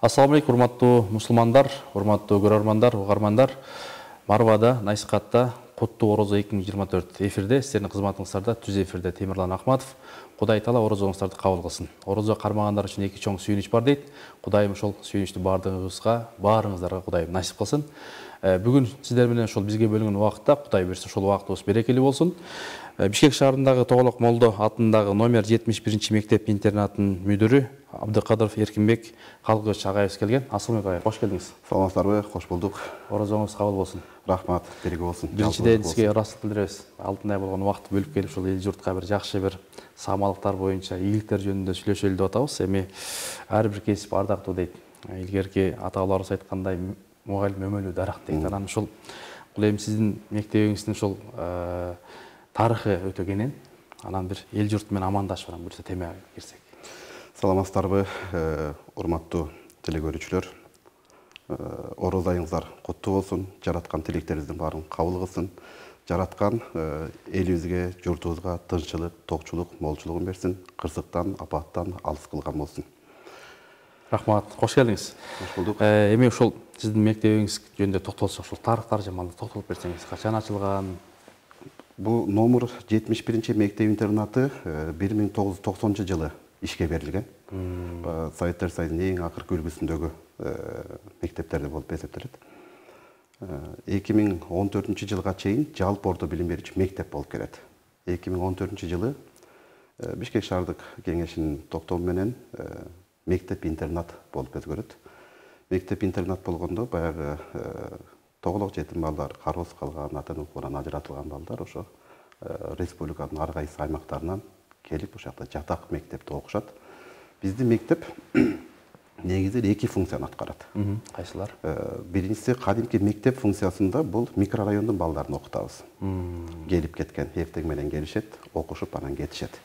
Ассаламу алейкум, урматтуу мусулмандар, урматтуу көрөрмандар, угармандар. Марвада, Насихатта Куттуу Орозо 2024 эфирде, сиздердин кызматыңыздарда түз эфирде Темирлан Ахматов. Кудай Таала орозоңуздарды кабыл кылсын. Орозо кармагандар үчүн эки чоң сүйүнүч бар дейт. Кудайым ошол сүйүнүчтү баарыңыздарга Кудайым насип кылсын. Бүгүн сиздер менен ошол бизге бөлүнгөн убакытта Кудай буйрса ошол убактыбыз берекелүү болсун. Бишкек шаарындагы Тоголок Молдо атындагы номер 71 мектеп интернатынын мүдүрү Абдыкадыров Эркинбек Калгыч агайыбыз келген. Ассаламу алейкум, кош келдиңиз. Саламатсыздарбы? Кош болдук. Орозоңуз кабыл болсун. Рахмат, береги болсун. Биринчиден сизге ыраазычылык билдиребиз. Алтындай болгон убакытты бөлүп келип, ушул эл журтка бир жакшы бир саамалыктар боюнча, ийгиликтер жөнүндө сүйлөшөлү деп атабыз. Эми ар бир кесип ардактуу дейт. Илгерки ата-бабаларыбыз айткандай, мугалим өмөлүү дарак дейт. Анан ушул бул эми сиздин мектебиңиздин ушул тарыхы өтө кенен. Анан бир эл журт менен амандашып анан буйрса темага кирсек. Саламатсыздарбы, урматтуу телекөрүүчүлөр. Орозо айыңыздар куттуу болсун. Жараткан тилектериңиздин баарын кабыл кылсын. Жараткан элибизге, журтубузга тынччылык, токчулук, молчулугун берсин. Кырсыктан, апаттан алыс кылган болсун. Рахмат, кош келдиңиз. Кош болдук. Эми ошол сиздин мектебиңиз жөнүндө токтолсок, ошол тарыхтар жаман токтолуп берсеңиз, качан ачылган? Бул номер 71 мектеп интернаты 1990 жылы ишке берилген. Советтер Союзунун эң акыркы үлгүсүндөгү мектептерди болуп эсептелет. 2014 жылга чейин жалпы орто билим берүүчү мектеп болуп келет. 2014 жылы Бишкек шаардык кеңешинин токтому менен мектеп интернат болуп өзгөрөт. Мектеп интернат болгондо баягы тоголок жетим балдар, кароосуз калган, ата-эне укугунан ажыратылган балдар ошо республиканын ар кайсы аймактарынан келип ошол жатак мектепте окушат. Биздин мектеп негизи эки функцияны аткарат. Кайсылар? Биринчиси кадимки мектеп функциясында бул микрорайондун балдарын окутабыз. Келип кеткен эртең менен келишет, окушуп анан кетишет.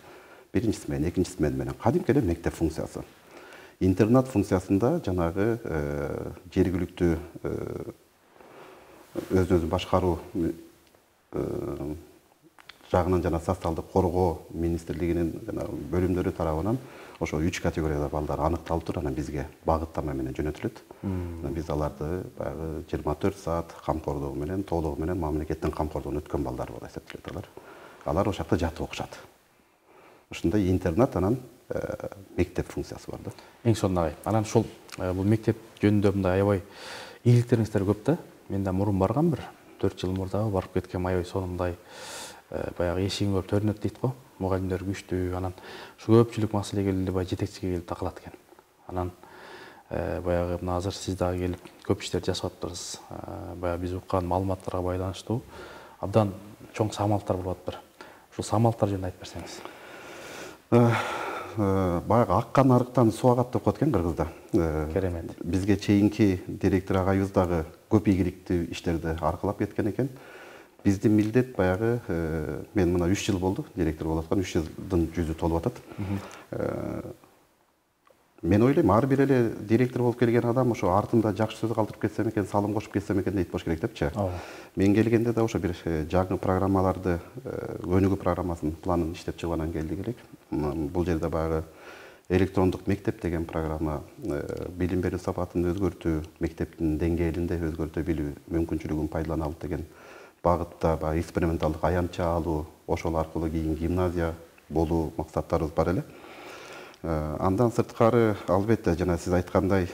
Биринчиси менен, экинчиси менен кадимки эле мектеп функциясы. Интернат функциясында жанагы жергиликтүү өзүн башкаруу жагынан жана социалдык коргоо министрлигинин жана бөлүмдөрү тарабынан ошо 3 категорияда балдар аныкталып туруп, анан бизге багыттама менен жөнөтүлөт. Биз аларды баягы 24 саат камкордугу менен, толугу менен мамлекеттин камкордугуна өткөн балдар болуп эсептелет алар. Алар ошол жакта жатып окушат. Ушундай интернат анан мектеп функциясы бар да. Эң сонун анан ушул бул мектеп жөнүндө мындай аябай ийгиликтериңиздер көп да. Мен да мурун баргам бир 4 жыл мурда барып кеткем, аябай сонундай баягы эшигин көрүп төрүнөт дейт го. Мугалимдер күчтүү, анан ушу көпчүлүк маселеге эле жетекчиге келип такылат экен. Анан баягы мына азыр сиз дагы келип көп иштер жасап атыптырсыз. Баягы биз уккан маалыматтарга байланыштуу абдан чоң самалыктар болуп атыптыр. Ушул самалыктар жөнүндө айтып берсеңиз. Баягы аккан арыктан суу агат деп коет экен кыргызда. Керемет. Бизге чейинки директор агайыбыз дагы көп ийгиликтүү иштерди аркылап кеткен экен. Биздин милдет баягы мен мына 3 жыл болду директор болуп аткан, 3 жылдын жүзү толуп атат. Мен ойлойм, ар бир эле директор болуп келген адам ошо артында жакшы сөз калтырып кетсем экен, салым кошуп кетсем экен дейт болуш керек депчи. Мен келгенде да ошо бир жаңы программаларды, өнүгүү программасынын планын иштеп чыгып анан келдик элек. Бул жерде баягы электрондук мектеп деген программа билим берүү сапатын өзгөртүү, мектептин деңгээлинде өзгөртө билүү мүмкүнчүлүгүн пайдалана алып деген багытта баягы эксперименталдык аянтча алуу, ошол аркылуу кийин гимназия болуу максаттарыбыз бар эле. Андан сырткары албетте жана сиз айткандай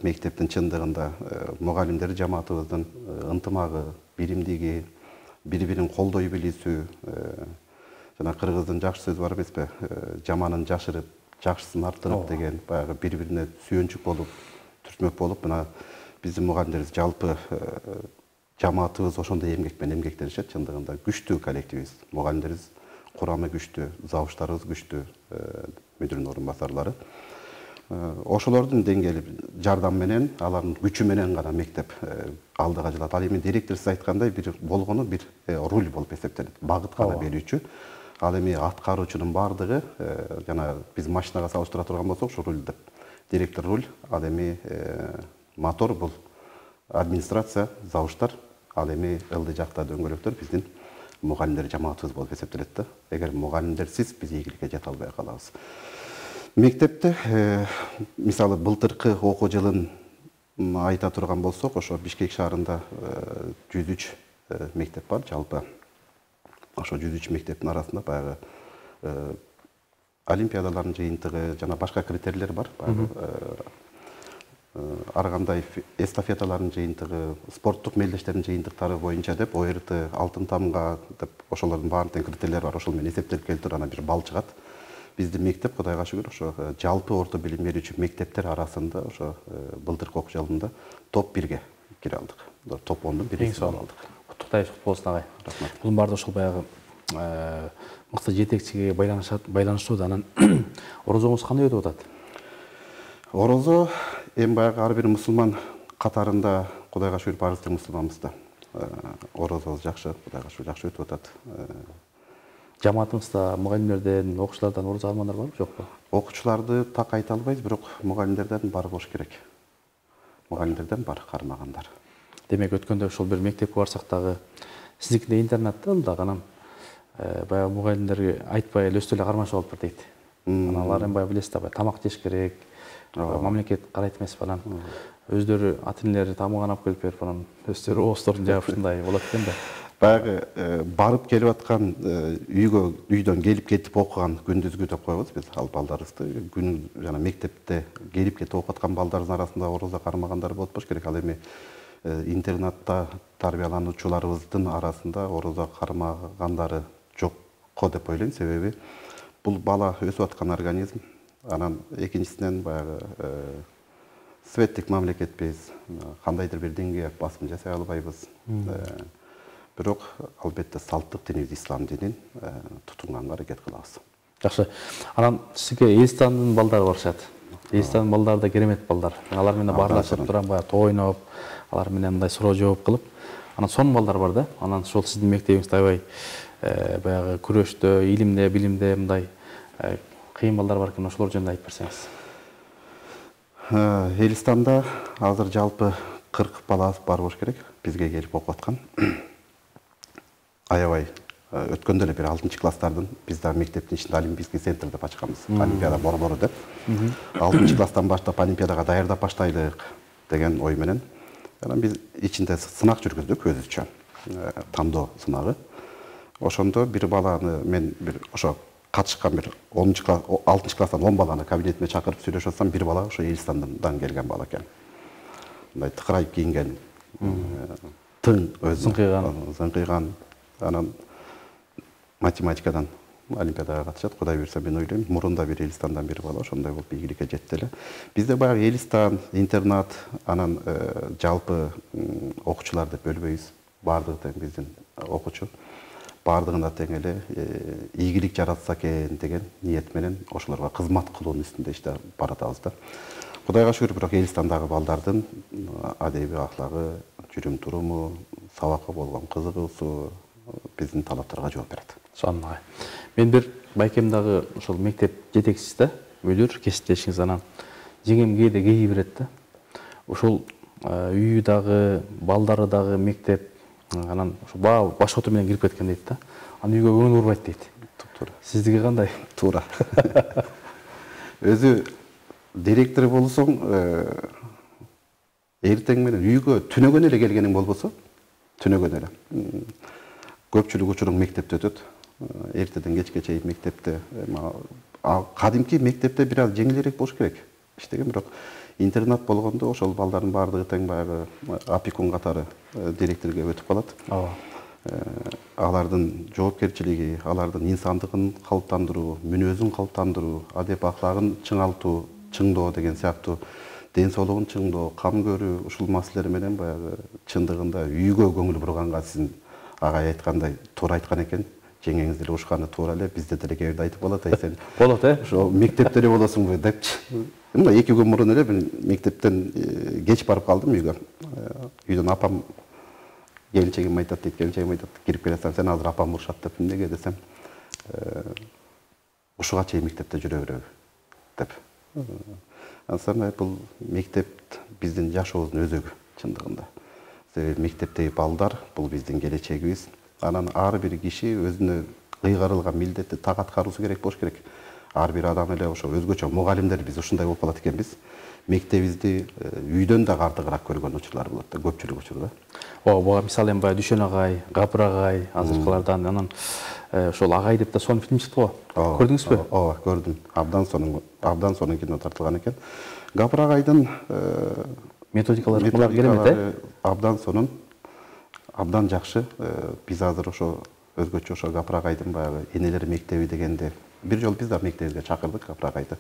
мектептин чындыгында мугалимдер жамаатыбыздын ынтымагы, биримдиги, бири-бирин колдой билүүсү, жана кыргыздын жакшы сөзү бар эмеспи? Жаманын жашырып, жакшысын арттырып деген баягы бири-бирине сүйөнчүк болуп, түртмөк болуп, мына биздин мугалимдерибиз жалпы жамаатыбыз ошондой эмгек менен эмгектенишет. Чындыгында күчтүү коллективибиз, мугалимдерибиз курамы күчтүү, завуштарыбыз күчтүү, мүдүрүнүн орун басарлары. Ошолордун деңгээли жардам менен, алардын күчү менен гана мектеп алдыга жылат. Ал эми директор сиз айткандай бир болгону бир руль болуп эсептелет, багыт гана берүүчү. Ал эми аткаруучунун баардыгы жана биз машинага салыштыра турган болсок, ушу руль деп. Директор руль, ал эми мотор бул администрация, завуштар, ал эми ылдый жакта дөңгөлөктөр биздин мугалимдер жамаатыбыз болуп эсептелет да. Эгер мугалимдерсиз биз ийгиликке жете албай калабыз. Мектепте мисалы былтыркы окуу жылын айта турган болсок, ошо Бишкек шаарында 103 мектеп бар жалпы. Ошо 103 мектептин арасында баягы олимпиадалардын жыйынтыгы жана башка критерийлер бар. Ар кандай эстафеталардын жыйынтыгы, спорттук мелдештердин жыйынтыктары боюнча деп ОРТ, алтын тамга деп ошолордун баардык критерийлери бар. Ошол менен эсептелип келип туруп анан бир балл чыгат. Биздин мектеп Кудайга шүгүр ошо жалпы орто билим берүүчү мектептер арасында ошо былтыркы окуу жылында топ 1ге кире алдык. Топ 10дун биринчиси алдык. Куттуктайбыз, кут болсун агай. Рахмат. Бунун баардыгы ошол баягы мыкты жетекчиге байланыштуу да. Анан орозоңуз кандай өтүп атат? Орозо эми баягы ар бир мусулман катарында Кудайга шүгүр барыбыз мусулманбыз да. Орозобуз жакшы, Кудайга шүгүр жакшы өтүп атат. Жамаатыңызда мугалимдерден, окуучулардан орозо алгандар барбы, жокпу? Окуучуларды так айта албайбыз, бирок мугалимдерден бар болуш керек. Мугалимдерден бар кармагандар. Демек өткөндө ошол бир мектепке барсак дагы сиздикинде интернатта дагы анан баягы мугалимдерге айтпай эле өстө эле кармашып алып дейт. Анан алар эми баягы билесиз да, тамак жеш керек. Мамлекет карайт эмеспи анан өздөрү ата-энелери тамагын алып келип берип анан өздөрү ооздорун жаап ушундай болот экен да. Баягы барып келип аткан үйдөн келип кетип окуган күндүзгү деп коебуз биз ал балдарыбызды. Күн жана мектепте келип кетип окуп аткан балдардын арасында орозо кармагандар болуп болуш керек. Ал эми интернатта тарбиялануучуларыбыздын арасында орозо кармагандары жокко деп ойлойм. Себеби бул бала өсүп аткан организм. Анан экинчисинен баягы светтик мамлекетпиз, кандайдыр бир деңгээлде басым жасай албайбыз. Бирок албетте салттык динибиз ислам динин тутунганга аракет кылабыз. Жакшы. Анан сизге Элистандын балдары барышат. Элистандын балдары да керемет балдар. Алар менен баарлашып турам, баягы топ ойноп, алар менен мындай суроо жооп кылып, анан сонун балдар бар да. Анан ошол сиздин мектебиңизде аябай баягы күрөштө, илимде, билимде мындай кыйын балдар бар экен, ошолор жөнүндө айтып берсеңиз. Элистанда азыр жалпы 40 бала бар болуш керек, бизге келип окуп аткан. Аябай өткөндө эле бир 6-класстардын биз да мектептин ичинде олимпийский центр деп ачканбыз. Олимпиада борбору деп. 6-класстан баштап олимпиадага даярдап баштайлык деген ой менен. Анан биз ичинде сынак жүргүздүк өзүбүзчө. Тандоо сынагы. Ошондо бир баланы мен бир ошо катышкан бир 6-класстан 10 баланы кабинетиме чакырып сүйлөшүп атсам, бир бала ошо Элистандан келген бала экен. Мындай тыкырайып кийинген, тың өзү зыңкыйган. Анан математикадан олимпиадага катышат. Кудай буйрса мен ойлойм, мурунда бир Элистандан бир бала ошондой болуп ийгиликке жетти эле. Бизде баягы Элистан, интернат, анан жалпы окуучулар деп бөлбөйбүз. Бардыгы тең биздин окуучу. Бардыгына тең эле ийгилик жаратса экен деген ниет менен ошолорго кызмат кылуунун үстүндө иште баратабыз да. Кудайга шүгүр, бирок Элистандагы балдардын адеби аклагы, жүрүм туруму, сабакка болгон кызыгуусу биздин талаптарга жооп берет. Сонун агай. Мен бир байкем дагы ошол мектеп жетекчиси да, мүдүр кесиптешиңиз, анан жеңем кээде кей берет да. Ошол үйү дагы, балдары дагы мектеп, анан ошо баш оту менен кирип кеткен дейт да. Анан үйгө көңүл бурбайт дейт. Туура. Сиздики кандай? Туура. Өзү директор болсоң, эртең менен үйгө түнөгөн эле келгениң болбосо, түнөгөн эле. Көпчүлүк учуруң мектепте өтөт. Эртеден кечке чейин мектепте. Кадимки мектепте бир аз жеңилирээк болуш керек. Иштеген, бирок интернат болгондо ошол балдардын баардыгы тең баягы опекун катары директорго өтүп калат. Алардын жоопкерчилиги, алардын инсандыгын калыптандыруу, мүнөзүн калыптандыруу, адеп аклагын чыңалтуу, чыңдоо деген сыяктуу, ден соолугун чыңдоо, кам көрүү, ушул маселелер менен баягы чындыгында үйгө көңүл бурганга сиздин агай айткандай туура айткан экен. Жеңеңиз деле ушканы туура эле, бизде деле кээ бирде айтып калат, сен болот ошо мектепте эле болосуңбу депчи. Мына 2 күн мурун эле мен мектептен кеч барып калдым үйгө. Үйдөн апам келинчегим айтат дейт, келинчегим айтат, кирип келесиң, сен азыр апам урушат деп, эмнеге десем, ушуга чейин мектепте жүрө береби деп. Ансырмай бул мектеп биздин жашообуздун өзөгү чындыгында. Себеби мектептеги балдар бул биздин келечегибиз. Анан ар бир киши өзүнө кыйгарылган милдетти так аткаруусу керек болуш керек. ар бир адам эле ошо өзгөчө мугалимдер биз ушундай болуп калат экенбиз. Мектебибизди үйдөн да артыгыраак көргөн учурлар болот да, көпчүлүк учурда. Ооба, буга мисалы эми баягы Дүшөн агай, Гапыр агай, азыркылардан анан ошол агай деп да сонун фильм чыкты го. Көрдүңүзбү? Ооба, көрдүм. Абдан сонун кино тартылган экен. Гапыр агайдын методикалары керемет, абдан сонун, абдан жакшы. Биз азыр ошо өзгөчө ошо Гапыр агайдын баягы энелер мектеби дегенде бир жолу биз да мектебибизге чакырдык Гапыр агайды.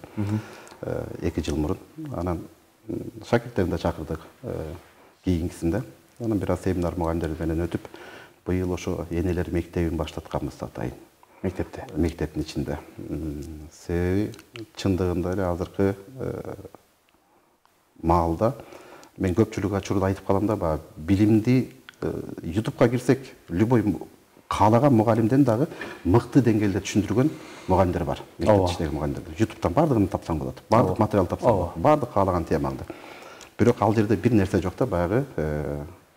2 жыл мурун. Анан шакирттерин да чакырдык кийинкисинде. Анан бир аз семинар мугалимдер менен өтүп, быйыл ошо энелер мектебин баштатканбыз атайын. Мектепте. Мектептин ичинде. Себеби чындыгында эле азыркы маалда мен көпчүлүк учурда айтып калам да, баягы билимди YouTube'га кирсек, любой каалаган мугалимден дагы мыкты деңгээлде түшүндүргөн мугалимдер бар. Мектептеги мугалимдер. YouTube'дан бардыгын тапсаң болот. Бардык материал тапсаң болот. Бардык каалаган темаңды. Бирок ал жерде бир нерсе жок да, баягы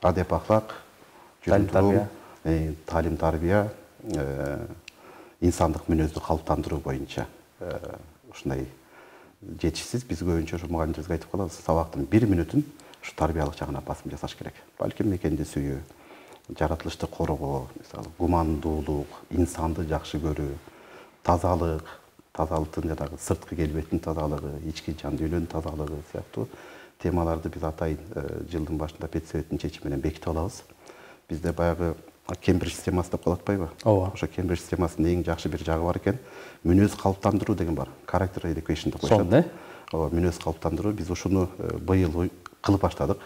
адеп ахлак, талим тарбия, инсандык мүнөздү калыптандыруу боюнча ушундай жетишсиз. Биз көбүнчө ошо мугалимдерибизге айтып калабыз, сабактын 1 мүнөтүн ушу тарбиялык жагына басым жасаш керек. Балким мекенди сүйүү, жаратылышты коргоо, мисалы гумандуулук, инсанды жакшы көрүү, тазалык, тазалыктын жанагы сырткы келбеттин тазалыгы, ички жан дүйнөнүн тазалыгы сыяктуу темаларды биз атайын жылдын башында педсоветтин чечими менен бекитип алабыз. Бизде баягы Кембридж системасы деп калат атпайбы? Ооба. Ошо Кембридж системасынын эң жакшы бир жагы бар экен. Мүнөз калыптандыруу деген бар. Character education деп коюшат. Сонун, Ооба, мүнөз калыптандыруу. Биз ушуну быйыл кылып баштадык.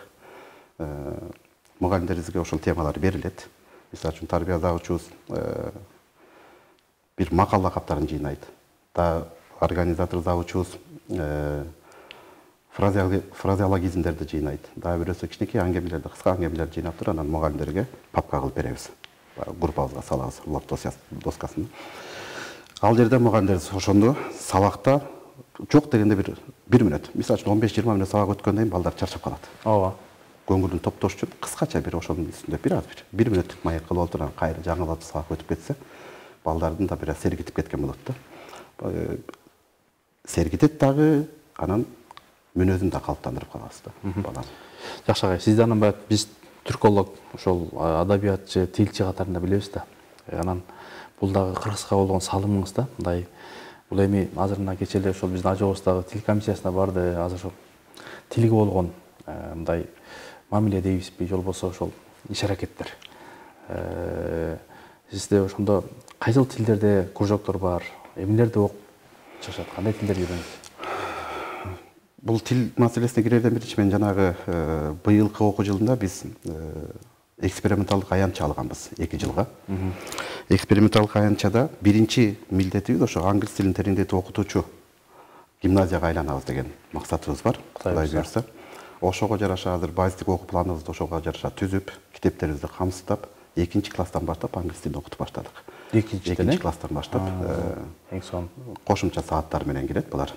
Мугалимдерибизге ошол темалар берилет. Мисалы үчүн тарбия загучубуз бир макал лакаптарын жыйнайт. Организатор загучубуз фразеологизмдерди жыйнайт. Дагы бирөөсү кичинекей аңгемелерди, кыска аңгемелерди жыйнап туруп, анан мугалимдерге папка кылып беребиз. Группабызга салабыз, лог доскасына. Ал жерде мугалимдерибиз ошондо сабакта жок дегенде бир мүнөт. Мисалы үчүн 15-20 мүнөт сабак өткөндөн кийин балдар чарчап калат. Ооба. Көңүлүн топтош үчүн кыскача бир ошонун үстүндө бир аз бир мүнөттүк маек кылып отуруп, кайра жаңылап сабак өтүп кетсе, балдардын да бир аз сергитип кеткен болот да. Сергитет дагы, анан мүнөзүн да калыптандырып калабыз да баланы. Жакшы агай, сизди анан баягы биз түрколог, ошол адабиятчы, тилчи катарында билебиз да. Анан бул дагы кыргызга болгон салымыңыз да, мындай бул эми азыр мына кечээ эле ошол биздин ажообуздагы тил комиссиясына барды, азыр ошол тилге болгон мындай мамиле дейбизби, же болбосо ошол иш-аракеттер. Сизде ошондо кайсыл тилдерде кружоктор бар, эмнелерди окуп чыгышат, кандай тилдерди үйрөнөт? Бул тил маселесине кирерден биринчи мен жанагы быйылкы окуу жылында биз эксперименталдык аянтча алганбыз 2 жылга. Эксперименталдык аянтчада биринчи милдетибиз ошо англис тилин тереңдетип окутуучу гимназияга айланабыз деген максатыбыз бар. Кудай буйрса. Ошого жараша азыр базистик окуу планыбызды ошого жараша түзүп, китептерибизди камсыздап, 2 класстан баштап англис тилин окутуп баштадык. 2 класстан баштап эң сонун кошумча сааттар менен келет булар.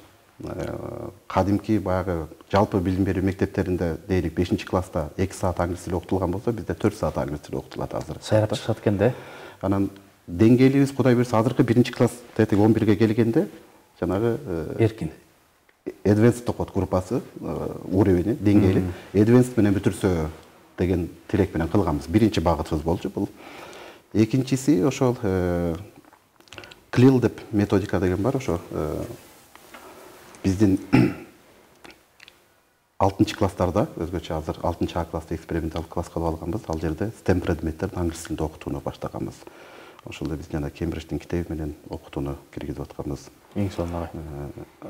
Кадимки баягы жалпы билим берүү мектептеринде дейли 5 класста 2 саат англис тили окутулган болсо, бизде 4 саат англис тили окутулат азыр. Сайрап чыгат экен да. Анан деңгээлибиз Кудай буйрса азыркы 1 класс 11ге келгенде жанагы эркин Advanced окут группасы уровени, деңгээли Advanced менен бүтүрсө деген тилек менен кылганбыз. Биринчи багытыбыз болчу бул. Экинчиси ошол CLIL деп методика деген бар, ошо биздин 6 класстарда өзгөчө азыр 6 А класста эксперименталдык класс кылып алганбыз. Ал жерде STEM предметтерин англис тилинде окутууну баштаганбыз. Ошолдо биз жана Кембридждин китеби менен окутууну киргизип атканбыз. Эң сонун агай.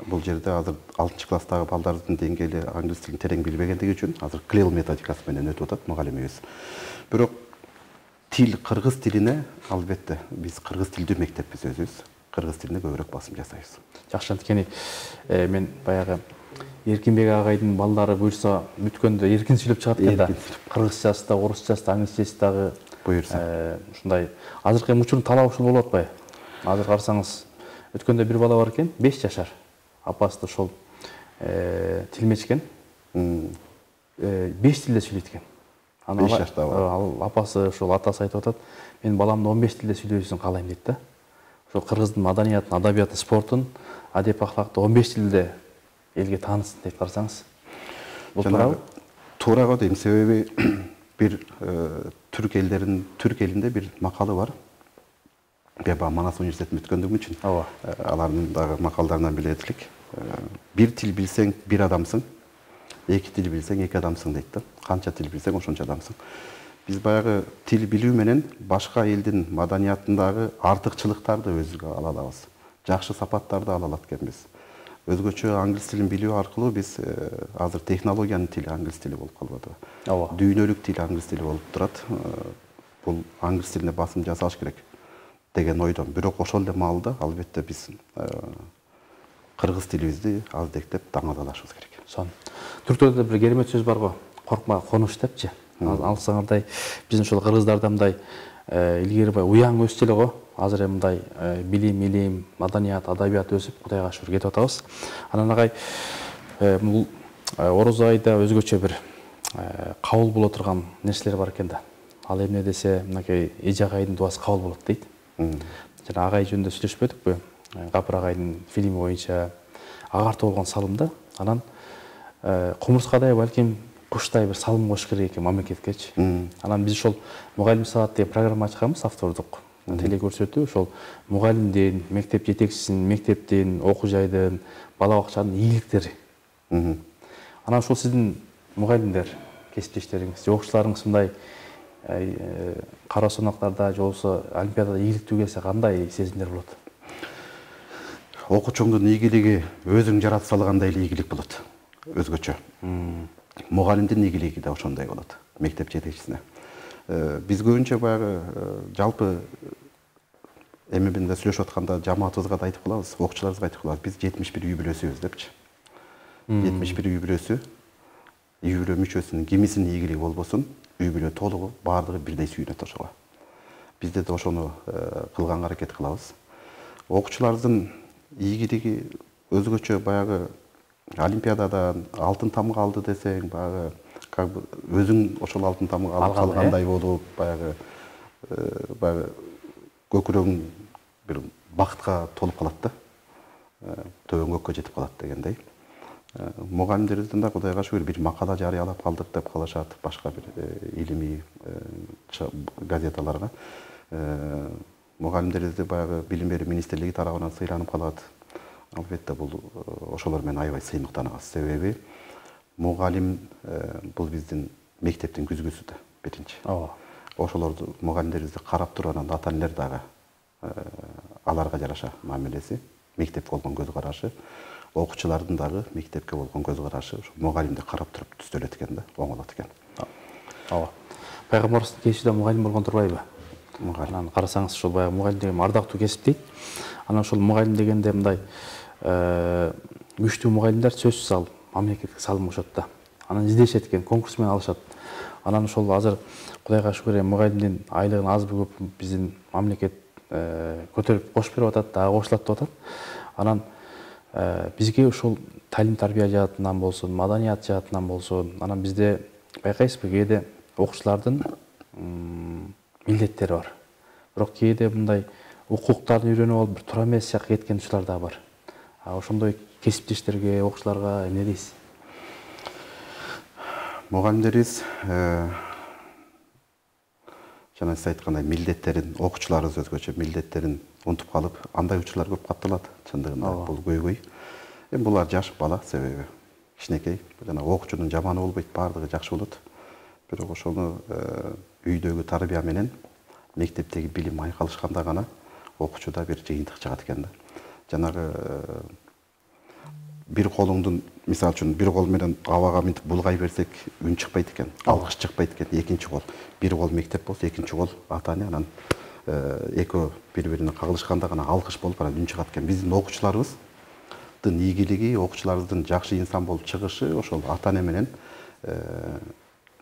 Бул жерде азыр 6 класстагы балдардын деңгээли англис тилин терең билбегендиги үчүн азыр CLIL методикасы менен өтүп атат мугалимибиз. Бирок тил, кыргыз тилине албетте биз кыргыз тилдүү мектеппиз өзүбүз. Кыргыз тилине көбүрөөк басым жасайбыз. Жакшы, анткени мен баягы Эркинбек агайдын балдары буйрса бүткөндө эркин сүйлөп чыгат экен да. Кыргызчасы да, орусчасы да, англисчеси дагы буйрса. Ушундай азыркы учурдун талабы ушул болуп атпайбы? Азыр карасаңыз, өткөндө бир бала бар экен, 5 жашар. Апасы да ошол тилмеч экен. 5 тилде сүйлөйт экен. 5 жаштагы. Ал апасы ошол атасы айтып атат, мен баламды 15 тилде сүйлөбөсүн каалайм дейт да. ошо кыргыздын маданиятын, адабиятын, спортун, адеп ахлакты 15 тилде элге таанытсын деп карасаңыз. Бул туурабы? Туура дейм, себеби бир түрк элинде бир макалы бар. Манас университетин бүткөндүгүм үчүн алардын дагы макалдарынан билет элек. Бир тил билсең бир адамсың, эки тил билсең эки адамсың дейт да. Канча тил билсең ошончо адамсың. Биз баягы тил билүү менен башка элдин маданиятындагы артыкчылыктарды өзүбүзгө ала алабыз. Жакшы сапаттарды ала алат экенбиз. Өзгөчө англис тилин билүү аркылуу биз азыр технологиянын тили англис тили болуп калбадыбы? Дүйнөлүк тил англис тили болуп турат. Бул англис тилине басым жасаш керек деген ойдон. Бирок ошол эле маалда албетте биз кыргыз тилибизди аздектеп даңазалашыбыз керек. Түрктөрдө бир керемет сөз бар го, коркма конуш депчи. Алсаңардай биздин ошол кыргыздарда мындай илгери уяң өссө эле го, азыр мындай билим, маданият, адабият өсүп, Кудайга шүгүр кетип атабыз. Анан агай бул Орозо айда өзгөчө бир кабыл боло турган нерселер бар экен да. Ал эмне десе, мынакей эже агайдын дуасы кабыл болот дейт. Жана агай жөнүндө сүйлөшпөдүкпү? Гапыр агайдын фильми боюнча агартуу болгон салымда, анан кумурскадай балким куштай бир салым кош керек экен мамлекеткечи. Анан биз ошол мугалим саат деген программа ачканбыз, автордук телекөрсөтүү. Ошол мугалимдин, мектеп жетекчисинин, мектептин, окуу жайдын, бала бакчанын ийгиликтери. Анан ошол сиздин мугалимдер, кесиптештериңиз, окуучуларыңыз мындай кара сынактарда же болбосо олимпиадада ийгиликтүү келсе кандай сезимдер болот? Окуучуңдун ийгилиги өзүң жарата салгандай эле ийгилик болот. Өзгөчө. Мугалимдин ийгилиги да ошондой болот. Мектеп жетекчисине. Биз көбүнчө баягы жалпы эмебинде сүйлөшүп атканда жамаатыбызга да айтып калабыз, окуучуларыбызга айтып калабыз. Биз 71 үй бүлөсүбүз депчи. 71 үй бүлөсү, үй бүлө мүчөсүнүн кимисинин ийгилиги болбосун, үй бүлө толугу баардыгы бирдей сүйүнөт ошого. Бизде да ошону кылганга аракет кылабыз. Окуучулардын ийгилиги өзгөчө баягы олимпиададан алтын тамга алды десең, баягы как бы өзүң ошол алтын тамга алып калгандай болуп, баягы көкүрөгүң бир бакытка толуп калат да. Төбөң көккө жетип калат дегендей. Мугалимдерибизден да Кудайга шүгүр бир макала жарыялап калдык деп калышат, башка бир илимий газеталарга. Мугалимдерибизди баягы билим берүү министрлиги тарабынан сыйланып калат. Албетте бул ошолор менен аябай сыймыктанабыз. Себеби мугалим бул биздин мектептин күзгүсү да биринчи. Ошолорду мугалимдерибизди карап турган ата энелер дагы аларга жараша мамилеси, мектепке болгон көз карашы, окуучулардын дагы мектепке болгон көз карашы ошо мугалимди карап туруп түзөлөт экен да, оңолот экен. Пайгамбарыбыздын кесипте мугалим болгон турбайбы? Анан карасаңыз ошол баягы мугалим деген ардактуу кесип дейт. Анан ошол мугалим дегенде мындай күчтүү мугалимдер сөзсүз ал мамлекетке салым кошот да. Анан издешет экен, конкурс менен алышат. Анан ошол азыр Кудайга шүгүр мугалимдин айлыгын азбы көп биздин мамлекет көтөрүп кош берип атат, дагы кошулат деп атат. Анан бизге ошол талим тарбия жаатынан болсун, маданият жаатынан болсун, анан бизде байкайсызбы, кээде окуучулардын милдеттери бар. Бирок кээде мындай укуктарын үйрөнүп алып бир туура эмес жакка кеткен учурлар да бар. Ошондой кесиптештерге, окуучуларга эмне дейсиз? Мугалимдерибиз жана сиз айткандай милдеттерин, окуучуларыбыз өзгөчө милдеттерин унутуп калып, андай учурлар көп катталат. Чындыгында бул көйгөй. Булар жаш бала себеби кичинекей. Жана окуучунун жаманы болбойт, баардыгы жакшы болот. Бирок ошону үйдөгү тарбия менен мектептеги билим айкалышканда гана окуучуда бир жыйынтык чыгат экен да. Жанагы бир колуңдун, мисалы үчүн, бир кол менен абага мынтип булгай берсек, үн чыкпайт экен, алкыш чыкпайт экен. Экинчи кол, бир кол мектеп болсо, экинчи кол ата эне, анан экөө бири-бирине кагылышканда гана алкыш болуп, анан үн чыгат экен. Биздин окуучуларыбыздын ийгилиги, окуучуларыбыздын жакшы инсан болуп чыгышы ошол ата эне менен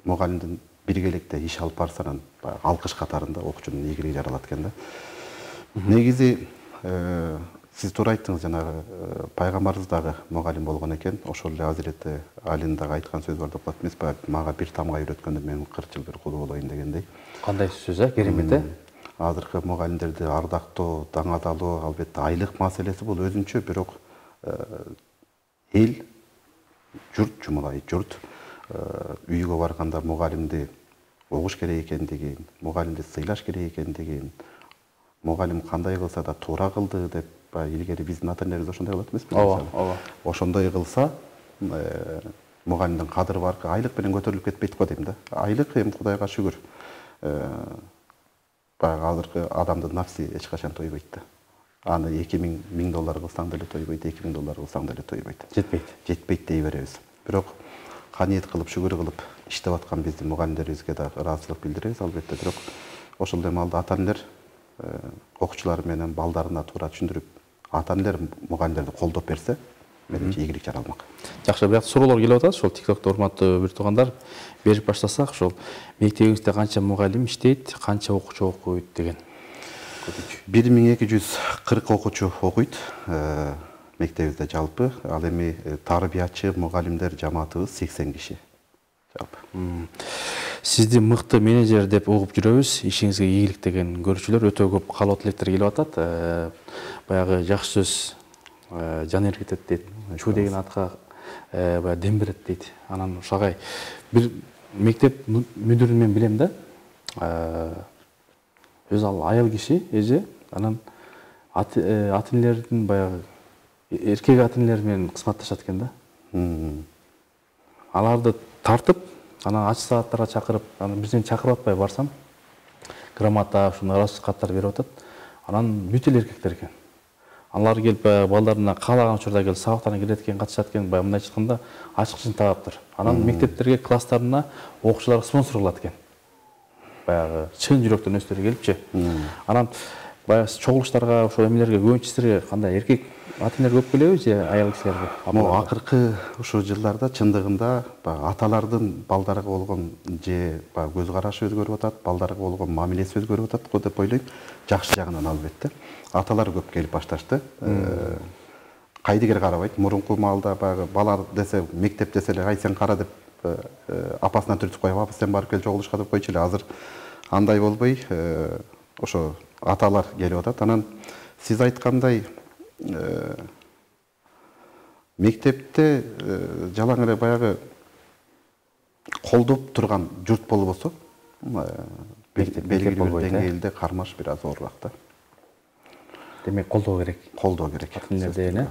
мугалимдин биргеликте иш алып барса, анан алкыш катарында окуучунун ийгилиги жаралат экен да. Негизи сиз туура айттыңыз, жанагы пайгамбарыбыз дагы мугалим болгон экен. Ошол эле Азирети Алинин дагы айткан сөзү бар деп калат эмеспи? Мага бир тамга үйрөткөндө мен 40 жыл бир кулу болоюн дегендей. Кандай сөз, керемет, азыркы мугалимдерди ардактоо, даңазалоо, албетте айлык маселеси бул өзүнчө, бирок эл, журт, жумалай журт үйгө барганда мугалимди угуш керек экендигин, мугалимди сыйлаш керек экендигин, мугалим кандай кылса да туура кылды деп, илгери биздин ата энелерибиз ошондой кылат эмеспи? Ооба. Ошондой кылса, мугалимдин кадыры баркы айлык менен көтөрүлүп кетпейт го дейм да. Айлык эми Кудайга шүгүр. Баягы азыркы адамдын нафси эч качан тойбойт да. Аны $2000 кылсаң деле тойбойт, $2000 кылсаң деле тойбойт. Жетпейт дей беребиз. Бирок каниет кылып, шүгүр кылып иштеп аткан биздин мугалимдерибизге да ыраазычылык билдиребиз, албетте. Бирок ошол демалда ата-энелер окуучулар менен балдарына туура түшүндүрүп, ата-энелер мугалимдерди колдоп берсе, менимче ийгилик жаралмак. Жакшы, бирок суроолор келип атат. Ошол TikTok'то урматтуу бир туугандар берип баштасак, ошол мектебиңизде канча мугалим иштейт, канча окуучу окуйт деген. 1240 окуучу окуйт мектебибизде жалпы. Ал эми тарбиячы мугалимдер жамаатыбыз 80 киши жалпы. Сизди мыкты менеджер деп угуп жүрөбүз. Ишиңизге ийгилик деген көрүүчүлөр өтө көп, каалоо тилектер келип атат. Баягы жакшы сөз жан эргитет дейт. Чуу деген атка баягы дем берет дейт. Анан ошогай бир мектеп мүдүрүн мен билем да. Өзү ал аял киши, эже, анан ата-энелердин баягы эркек ата-энелер менен кызматташат экен да. Аларды тартып, анан ачык сааттарга чакырып, анан бизден чакырып атпай барсам, грамота, ушундай ыраазычылык каттар берип атат. Анан бүт эле эркектер экен. Алар келип балдарына каалаган учурда келип сабактарына кирет экен, катышат экен, баягы мындай айтканда ачкычын тагаптыр. Анан мектептерге, класстарына окуучуларга спонсор кылат экен. Баягы чын жүрөктөн өздөрү келипчи. Анан баягы чогулуштарга, ошо эмелерге көбүнчө силерге кандай эркек ата-энелер көп келеби же аял кишилерге? Акыркы ушул жылдарда чындыгында аталардын балдарга болгон же көз карашы өзгөрүп атат, балдарга болгон мамилеси өзгөрүп атат го деп ойлойм. Жакшы жагынан албетте. Аталар көп келип башташты. Кайдыгер карабайт. Мурунку маалда баягы балар десе, мектеп десе эле, ай сен кара деп апасынан түртүп коюп, апа сен барып кел чогулушка деп койчу эле. Азыр андай болбой, ошо аталар келип атат. Анан сиз айткандай мектепте жалаң эле баягы колдоп турган журт болбосо, белгилүү бир деңгээлде кармаш бир аз оорураак да. Демек колдоо керек. Колдоо керек. Ата-энелер деген,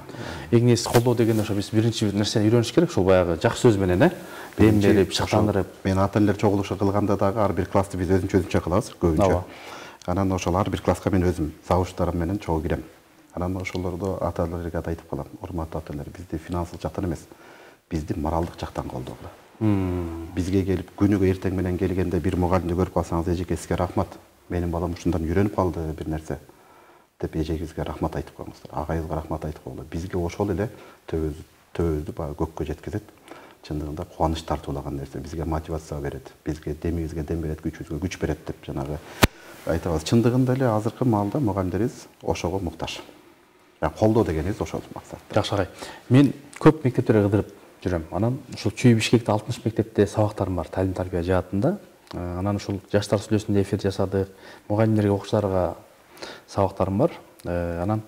Эңиз колдоо деген ошо биз биринчи нерсени үйрөнүш керек, ошол баягы жакшы сөз менен, дем берип, шыктандырып. Мен ата-энелер чогулушу кылганда дагы ар бир классты биз өзүнчө кылабыз, көбүнчө. Анан ошол ар бир класска мен өзүм завуштарым менен чогуу кирем. Анан ошолордо ата-энелерге да айтып калам, урматтуу ата-энелер, бизди финансылык жактан эмес, бизди моралдык жактан колдогула. Бизге келип күнүгө эртең менен келгенде бир мугалимди көрүп калсаңыз, эжеке сизге рахмат, менин балам ушундан үйрөнүп калды бир нерсе деп эжегибизге рахмат айтып коюңуздар, агайыбызга рахмат айтып коелу. Бизге ошол эле төбөбүздү баягы көккө жеткизет. Чындыгында кубаныч тартуулаган нерсе, бизге мотивация берет, бизге демибизге дем берет, күчүбүзгө күч берет деп жанагы айтабыз. Чындыгында эле азыркы маалда мугалимдерибиз ошого муктаж. Колдоо дегенибиз ошол максат. Жакшы агай. Мен көп мектептерге кыдырып жүрөм. Анан ушул Чүй Бишкекте 60 мектепте сабактарым бар, талим тарбия жаатында. Анан ушул жаштар сүйлөсүндө эфир жасадык, мугалимдерге, окуучуларга сабактарым бар. Анан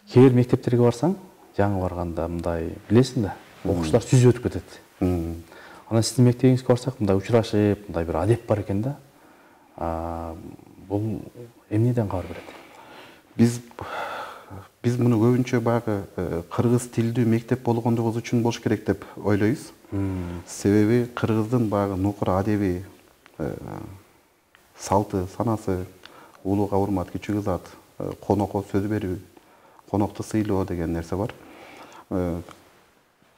кээ бир мектептерге барсаң, жаңы барганда мындай билесиң да, окуучулар сүзүп өтүп кетет. Анан сиздин мектебиңизге барсак, мындай учурашып, мындай бир адеп бар экен да. Бул эмнеден кабар берет? Биз муну көбүнчө баягы кыргыз тилдүү мектеп болгондугубуз үчүн болуш керек деп ойлойбуз. Себеби кыргыздын баягы нукур адеби, салты, санасы, улууга урмат, кичүүгө зат, конокко сөз берүү, конокту сыйлоо деген нерсе бар.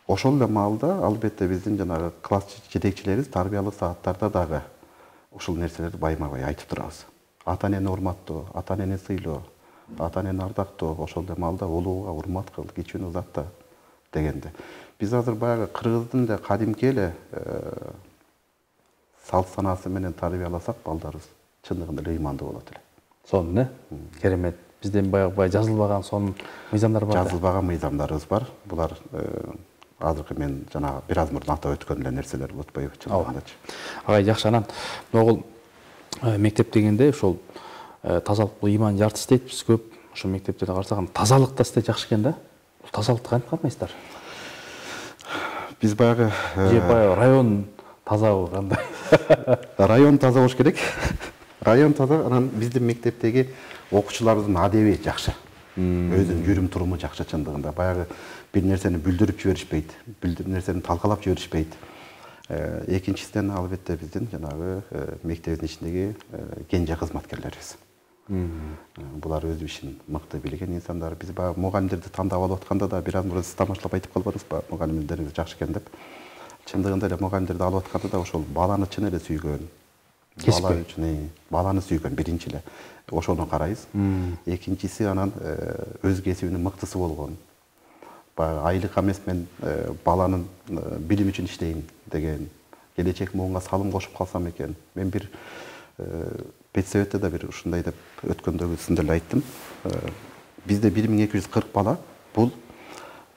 Ошол эле маалда албетте биздин жанагы класс жетекчилерибиз тарбиялык сааттарда дагы ушул нерселерди байма-бай айтып турабыз. Ата-энени урматтоо, ата-энени сыйлоо, ата-энени ардактоо, ошол эле маалда улууга урмат кыл, кичүүнү узатта дегенде. Биз азыр баягы кыргыздын эле кадимки эле салт санасы менен тарбияласак, балдарыбыз чындыгында эле ыймандуу болот эле. Сонун, керемет. Бизден баягы жазылбаган сонун мыйзамдар бар. Жазылбаган мыйзамдарыбыз бар. Булар азыркы мен жанагы бир аз мурун атап өткөн эле нерселер болуп атпайбы чындыгындачы. Агай, жакшы. Анан могул мектеп дегенде ошол тазалык бул имандын жартысы дейт биз көп. Ошо мектептерде карасак тазалык да сизде жакшы экен да. Бул тазалыкты кантип кармайсыздар? Биз баягы же баягы район тазабы кандай? Район таза болуш керек. Район таза, анан биздин мектептеги окуучулардын адеби жакшы. Өзүнүн жүрүм туруму жакшы чындыгында. Баягы бир нерсени бүлдүрүп жиберишпейт, бир нерсени талкалап жиберишпейт. Экинчисинен албетте биздин жанагы мектебиздин ичиндеги кенже кызматкерлерибиз. Булар өз ишин мыкты билген инсандар. Биз баягы мугалимдерди тандап алып атканда да бир аз мурда сиз тамашалап айтып калбадыңызбы, мугалимдериңиз жакшы экен деп. Чындыгында эле мугалимдерди алып атканда да ошол баланы чын эле сүйгөн. Бала үчүн баланы сүйгөн биринчи эле. Ошону карайбыз. Экинчиси анан өз кесибинин мыктысы болгон. Баягы айлык эмес, мен баланын билими үчүн иштейм деген, келечек муунга салым кошуп калсам экен. Мен бир педсоветте да бир ушундай деп өткөндөгү сиздер эле айттым. Бизде 1240 бала, бул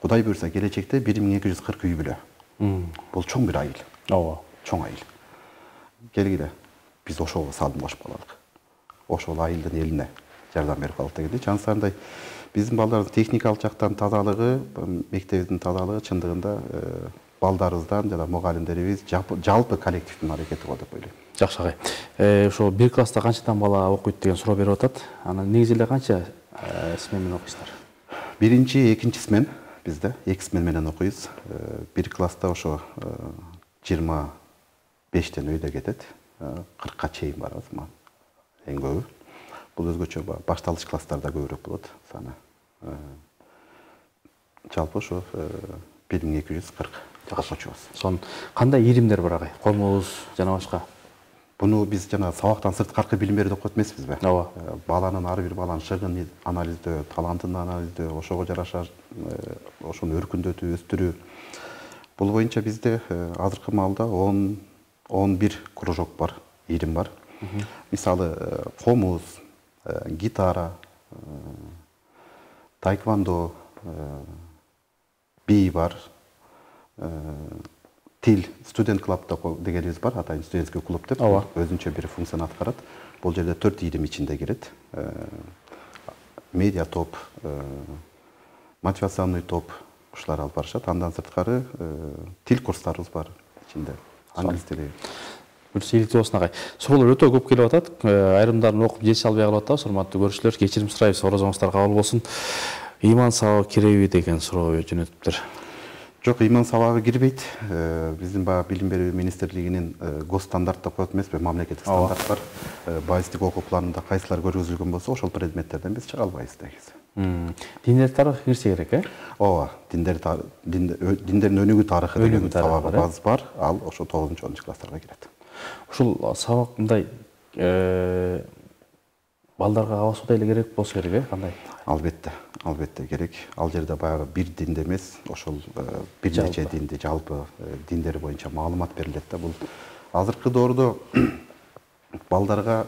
Кудай буйрса келечекте 1240 үй бүлө. Бул чоң бир айыл. Ооба, чоң айыл. Келгиле, биз ошого салым кошуп калалык. Ошол айылдын элине жардам берип калдык дегенде, жансандай биздин балдардын техникалык жактан тазалыгы, мектебиздин тазалыгы чындыгында балдарыбыздан жана мугалимдерибиз жалпы коллективдин аракети го деп ойлойм. Жакшы агай. Ошо бир класста канчадан бала окуйт деген суроо берип атат. Анан негизи эле канча смен менен окуйсуздар? Биринчи, экинчи смен бизде 2 смен менен окуйбуз. Бир класста ошо 25тен өйдө кетет. 40ка чейин барабыз, эң көбү. Бул өзгөчө башталыш класстарда көбүрөөк болот саны. Жалпы ошо 1240 окуучубуз. Сон кандай иримдер бар агай? Комуз жана башка? Буну биз жана сабактан сырткары билим берүү деп коет эмеспизби? Ооба. Баланын ар бир баланын шыгын анализдөө, талантын анализдөө, ошого жараша ошону өркүндөтүү, өстүрүү. Бул боюнча бизде азыркы маалда 11 кружок бар, ирим бар. Мисалы, комуз, гитара, таэквондо, би бар, тил, студент клуб дегенибиз бар, атайын студентский клуб деп, өзүнчө бир функцияны аткарат. Бул жерде 4 ирим ичинде кирет. Медиа топ, мотивационный топ ушулар алып барышат. Андан сырткары тил курстарыбыз бар ичинде. Англис тили. Иликтүү болсун агай. Суроолор өтө көп келип атат. Айрымдарын окуп жетише албай калып атабыз. Урматтуу көрүүчүлөр, кечирим сурайбыз. Орозоңуздар кабыл болсун. Ыйман сабагы киреби деген суроо жөнөтүптүр. Жок, ыйман сабагы кирбейт. Биздин баягы билим берүү министрлигинин госстандарт деп коет эмеспи, мамлекеттик стандарт бар. Байыстык окуу планында кайсылар көргөзүлгөн болсо, ошол предметтерден биз чыга албайбыз негизи. Диндер тарыхы кирсе керек, Ооба, диндердин өнүгүү тарыхы деген сабагыбыз бар. Ал ошо 9-10 класстарга кирет. Ушул сабак мындай балдарга абасуудай эле керек болсо керек, кандай? Албетте керек. Ал жерде баягы бир динде эмес, ошол бир нече динди, жалпы диндер боюнча маалымат берилет да. Бул азыркы доордо балдарга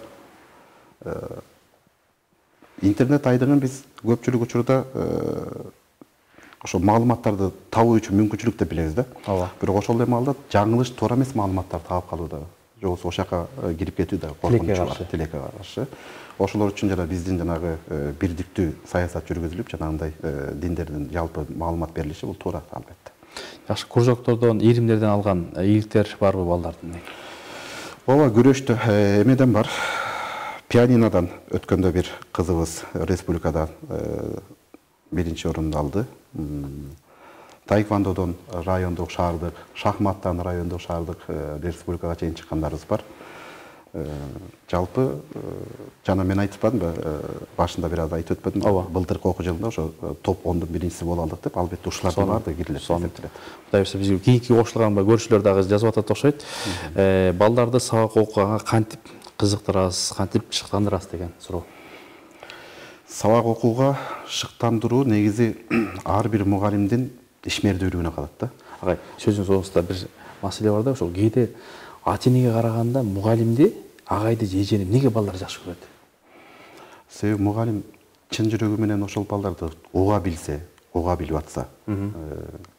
интернет айдыгын биз көпчүлүк учурда ошо маалыматтарды табуу үчүн мүмкүнчүлүк деп билебиз да. Бирок ошол эле маалда жаңылыш, туура эмес маалыматтарды таап калууда, же болбосо ошол жака кирип кетүү да коркунучу бар, тилекке каршы. Ошолор үчүн жана биздин жанагы бирдиктүү саясат жүргүзүлүп, жанагындай диндердин жалпы маалымат берилиши бул туура, албетте. Жакшы, кружоктордон, иримдерден алган ийгиликтер барбы балдардын? Ооба, күрөштө эмеден бар. Пианинодан өткөндө бир кызыбыз республикада биринчи орунду алды. Таэквондодон райондук, шаардык, шахматтан райондук, шаардык, республикага чейин чыккандарыбыз бар. Жалпы жана мен айтпадымбы, башында бир аз айтып өтпөдүмбү? Былтыркы окуу жылында ошо топ 10дун биринчиси боло алдык деп, албетте ушулардын баардыгы кирилет. Кудай буйрса бизге кийинки кошулган көрүүчүлөр дагы жазып атат окшойт. Балдарды сабак окуганга кантип кызыктырасыз, кантип шыктандырасыз деген суроо. Сабак окууга шыктандыруу негизи ар бир мугалимдин ишмердүүлүгүнө калат да. Агай, сөзүңүз оңусунда бир маселе бар да, ошол кээде ата-энеге караганда мугалимди, агайды же эжени неге балдар жакшы көрөт? Себеби мугалим чын жүрөгү менен ошол балдарды уга билсе, уга билип атса,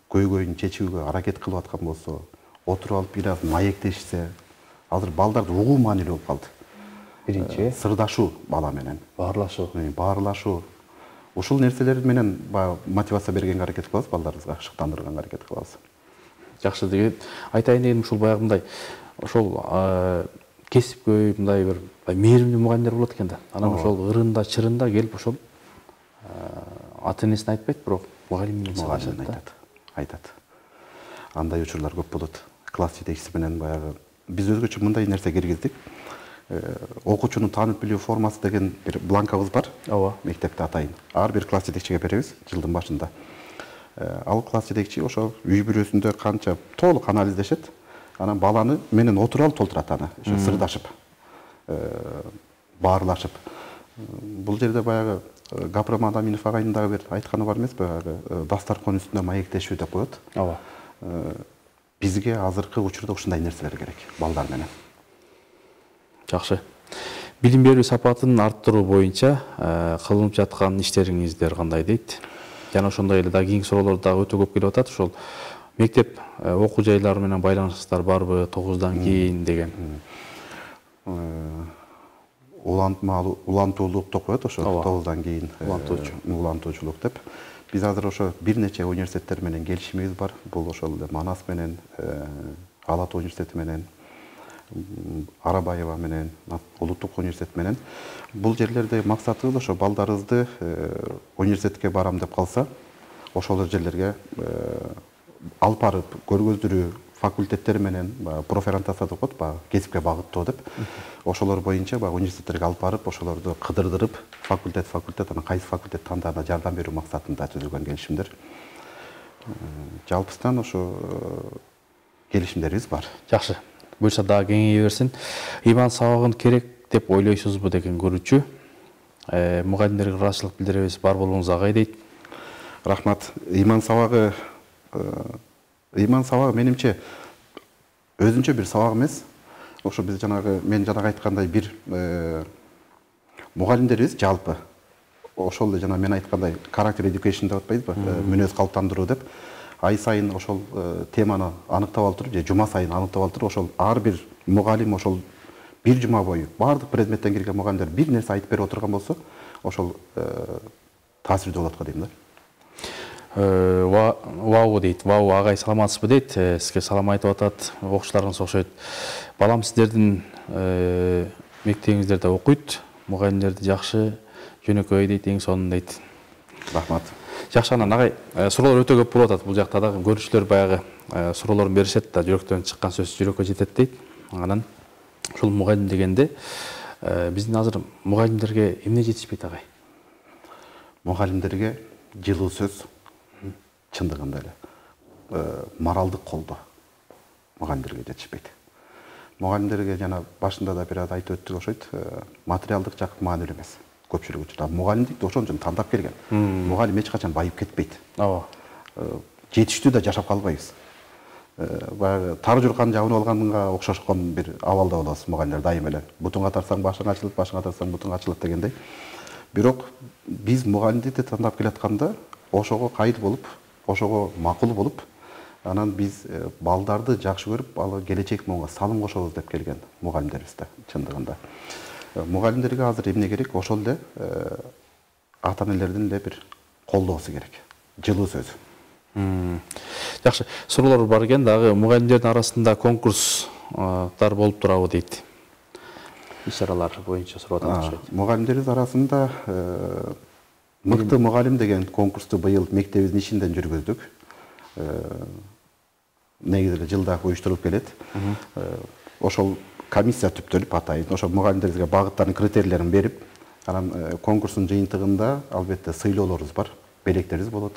көйгөйүн чечүүгө аракет кылып аткан болсо, отуруп алып бир аз маектешсе, азыр балдарды угуу маанилүү болуп калды. биринчи сырдашуу бала менен, баарлашуу. Ушул нерселер менен мотивация бергенге аракет кылабыз, балдарыбызга шыктандырганга аракет кылабыз. Жакшы, деген айтайын дегеним ушул баягы мындай ошол кесипкөй мындай бир мээримдүү мугалимдер болот экен да. Анан ошол ырында чырында келип ошол ата энесине айтпайт, бирок мугалимине айтат. Андай учурлар көп болот. Класс жетекчиси менен баягы биз өзгөчө мындай нерсе киргиздик. Окуучунун таанып билүү формасы деген бир бланкабыз бар. Ооба. Мектепте атайын. Ар бир класс жетекчиге беребиз жылдын башында. Ал класс жетекчи ошол үй бүлөсүндө канча толук анализдешет. Анан баланы менен отуруп алып толтурат аны, ошо сырдашып, баарлашып. Бул жерде баягы Гапырам Адаминов агайдын дагы бир айтканы бар эмеспи? Дастаркан үстүндө маектешүү деп коет. Ооба. Бизге азыркы учурда ушундай нерселер керек балдар менен. Жакшы. Билим берүү сапатын арттыруу боюнча кылынып жаткан иштериңиздер кандай дейт? Жана ошондой эле дагы кийинки суроолор дагы өтө көп келип атат. Ошол мектеп окуу жайлары менен байланыштар барбы 9-дан кийин деген? Улантуулук деп коет ошо 9-дан кийин улантуучулук деп. Биз азыр ошо бир нече университеттер менен келишимибиз бар. Бул ошол эле Манас менен, Ала Тоо университети менен, Арабаева менен, Улуттук университет менен. Бул жерлерде максатыбыз ошо балдарыбызды университетке барам деп калса, ошол жерлерге алып барып көргөздүрүү факультеттер менен профориентация деп коет, кесипке багыттоо деп. Ошолор боюнча университеттерге алып барып, ошолорду кыдырдырып, факультет анан кайсы факультет тандаарына жардам берүү максатында түзүлгөн келишимдер. Жалпыстан ошо келишимдерибиз бар. Жакшы. Буюрса дагы кеңейе берсин. Иман сабагын керек деп ойлойсузбу деген көрүүчү. Мугалимдерге ыраазычылык билдиребиз, бар болуңуз агай дейт. Рахмат. Иман сабагы менимче өзүнчө бир сабак эмес. Ошо биз мен жанагы айткандай бир мугалимдерибиз жалпы ошол эле мен айткандай character education деп атпайбызбы? Мүнөз калыптандыруу деп. Ай сайын ошол теманы аныктап алып туруп, же жума сайын аныктап алып туруп, ошол ар бир мугалим ошол бир жума бою баардык предметтен кирген мугалимдер бир нерсе айтып берип отурган болсо, ошол таасирдүү болот го дейм да. Вау дейт. Вау агай саламатсызбы дейт. Сизге салам айтып атат. Окуучуларыңыз окшойт. Балам сиздердин мектебиңиздерде окуйт. Мугалимдерди жакшы, жөнөкөй дейт, эң сонун дейт. Рахмат. Жакшы, анан агай суроолор өтө көп болуп атат. Бул жакта дагы көрүүчүлөр баягы суроолорун беришет да, жүрөктөн чыккан сөз жүрөккө жетет дейт. Анан ушул мугалим дегенде биздин азыр мугалимдерге эмне жетишпейт агай? Мугалимдерге жылуу сөз, чындыгында эле моралдык колдоо мугалимдерге жетишпейт. Мугалимдерге жана башында да бир аз айтып өттүк окшойт, материалдык жак маанилүү эмес. Көпчүлүк учурда мугалимдикти ошон үчүн тандап келген. Мугалим эч качан байып кетпейт. Ооба. Жетиштүү да жашап калбайбыз. Баягы тар журкан жабынып алганга окшошкон бир абалда болобуз мугалимдер дайым эле. Бутуңга тарсаң башың ачылат, башыңа тарсаң бутуң ачылат дегендей. Бирок биз мугалимдикти тандап келатканда ошого кайыр болуп, ошого макул болуп, анан биз балдарды жакшы көрүп, ал келечек моңго салым кошобуз деп келген мугалимдерибиз да чындыгында. Мугалимдерге азыр эмне керек? Ошол эле ата энелердин эле бир колдоосу керек. Жылуу сөз. Жакшы, суроолор бар экен, дагы мугалимдердин арасында конкурстар болуп турабы дейт. Иш-чаралар боюнча сурап атышат. Мугалимдерибиз арасында мыкты мугалим деген конкурсту быйыл мектебибиздин ичинен жүргүздүк. Негизи эле жылда уюштурулуп келет. Ошол комиссия түптөлүп атайын, ошо мугалимдерибизге багыттарын, критерийлерин берип, анан конкурстун жыйынтыгында албетте сыйлоолорубуз бар, белектерибиз болот.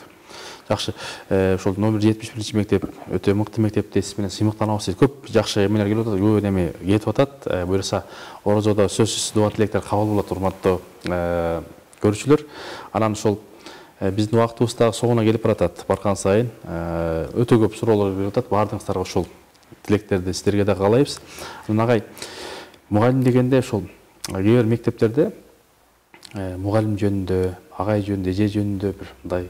Жакшы, ошол номер 71 мектеп өтө мыкты мектеп дейсиз менен сыймыктанабыз дейт. Көп жакшы эмелер келип атат, көп неме кетип атат. Буюрса орозодо сөзсүз дуа тилектер кабыл болот, урматтуу көрүүчүлөр. Анан ошол биздин убактыбыз дагы соңуна келип баратат. Барган сайын өтө көп суроолор келип атат. Баардыгыңыздарга ошол тилектерди сиздерге да каалайбыз. Анан агай, мугалим дегенде ошол кээ бир мектептерде мугалим жөнүндө, агай жөнүндө, эже жөнүндө бир мындай